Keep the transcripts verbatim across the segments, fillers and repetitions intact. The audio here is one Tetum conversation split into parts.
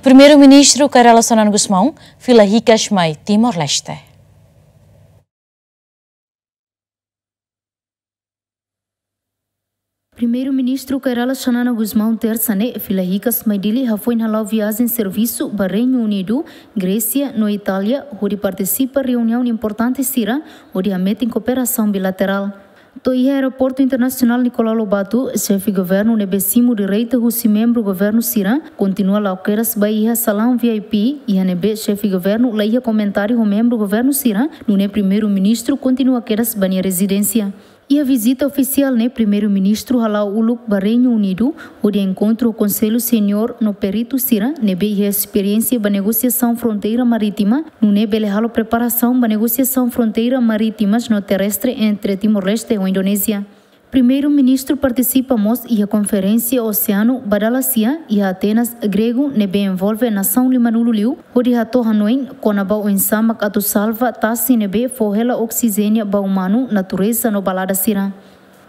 Primeiru-Ministru Kay Rala Xanana Gusmão fila hikas mai Timor-Leste. Primeiru-Ministru Kay Rala Xanana Gusmão tersa ne'e fila hikas mai Dili hafoin hala'o viajen servisu ba Reinu Unidu, Grésia no Itália, hodi partisipa reuniaun importante sira hodi hametin kooperasaun bilaterál. To'o iha Aeroportu Internasionál Nicolau Lobato, Xefe Governu ne'ebé simu direita husi membru governu sira kontinua la'o kedas ba iha salaun V I P, iha ne'ebé Xefe Governu la iha komentáriu ho membru governu sira, nune'e Primeiru-Ministru kontinua kedas ba nia rezidénsia. Iha vizita ofisiál ne'e Primeiru-Ministru hala'o uluk ba Reinu Unidu, hodi enkontru ho Konsellu Seniór no peritu sira ne'ebé iha esperiénsia ba negosiasaun fronteira marítima, nune'e bele halo preparasaun ba negosiasaun fronteira marítimas no terrestre entre Timor-Leste ho Indonézia. Primeiru-Ministru partisipa mós iha konferénsia oseanu ba dala sia iha Atenas, Gregu, ne'ebé envolve nasaun limanulu liu, hodi hato'o hanoin kona-ba oinsá mak atu salva tasi ne'ebé fó hela oksijéniu ba umanu, natureza no balada sira.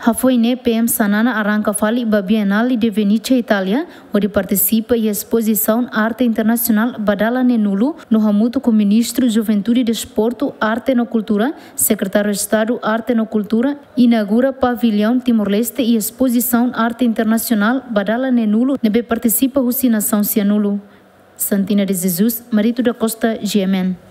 Hafoin ne'e P M Xanana arranka fali ba Bienale de Venezia, Itália, hodi partisipa iha espozisaun arte internasionál ba dala neenulu no hamutuk ho Ministru Juventude, Desportu, Arte no Kultura, Sekretáriu Estadu Arte no Kultura, inaugura pavillaun Timor-Leste iha espozisaun arte internasionál ba dala neenulu ne'ebé partisipa husi nasaun sianulu. Santina de Jesus, Marito da Costa, G M N.